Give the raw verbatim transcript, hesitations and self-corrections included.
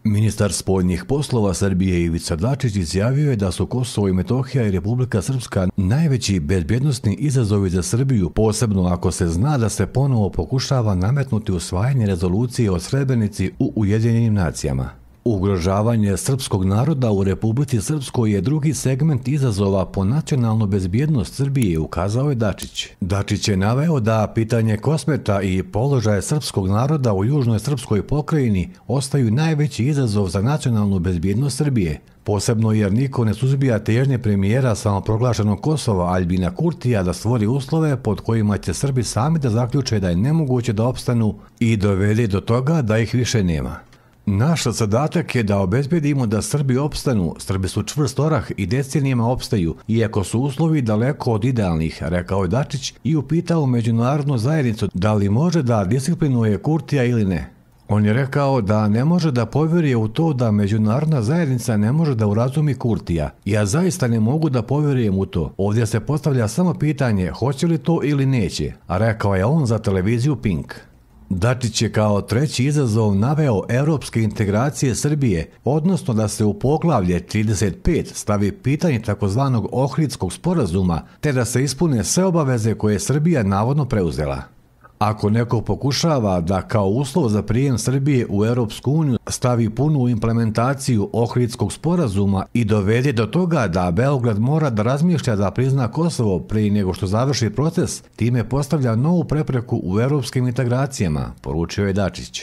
Ministar spoljnih poslova Srbije Ivica Dačić izjavio je da su Kosovo i Metohija i Republika Srpska najveći bezbjednosni izazovi za Srbiju, posebno ako se zna da se ponovo pokušava nametnuti usvajanje rezolucije o Srebrenici u Ujedinjenim nacijama. Ugrožavanje srpskog naroda u Republici Srpskoj je drugi segment izazova po nacionalnu bezbjednost Srbije, ukazao je Dačić. Dačić je naveo da pitanje Kosmeta i položaje srpskog naroda u južnoj srpskoj pokrajini ostaju najveći izazov za nacionalnu bezbjednost Srbije, posebno jer niko ne suzbija težnje premijera samoproglašenog Kosova Aljbina Kurtija da stvori uslove pod kojima će Srbi sami da zaključe da je nemoguće da opstanu i dovede do toga da ih više nema. Naš zadatak je da obezbedimo da Srbi opstanu. Srbi su čvrst orah i decenijama opstaju, iako su uslovi daleko od idealnih, rekao je Dačić i upitao međunarodnu zajednicu da li može da disciplinuje Kurtija ili ne. On je rekao da ne može da povjeruje u to da međunarodna zajednica ne može da urazumi Kurtija. Ja zaista ne mogu da povjerujem u to. Ovdje se postavlja samo pitanje hoće li to ili neće, a rekao je on za televiziju Pink. Dačić je kao treći izazov naveo evropske integracije Srbije, odnosno da se u poglavlje trideset pet stavi pitanje takozvanog Ohridskog sporazuma, te da se ispune sve obaveze koje je Srbija navodno preuzela. Ako neko pokušava da kao uslov za prijem Srbije u Europsku uniju stavi punu implementaciju Ohridskog sporazuma i dovede do toga da Beograd mora da razmišlja da prizna Kosovo prije nego što završi proces, time postavlja novu prepreku u europskim integracijama, poručio je Dačić.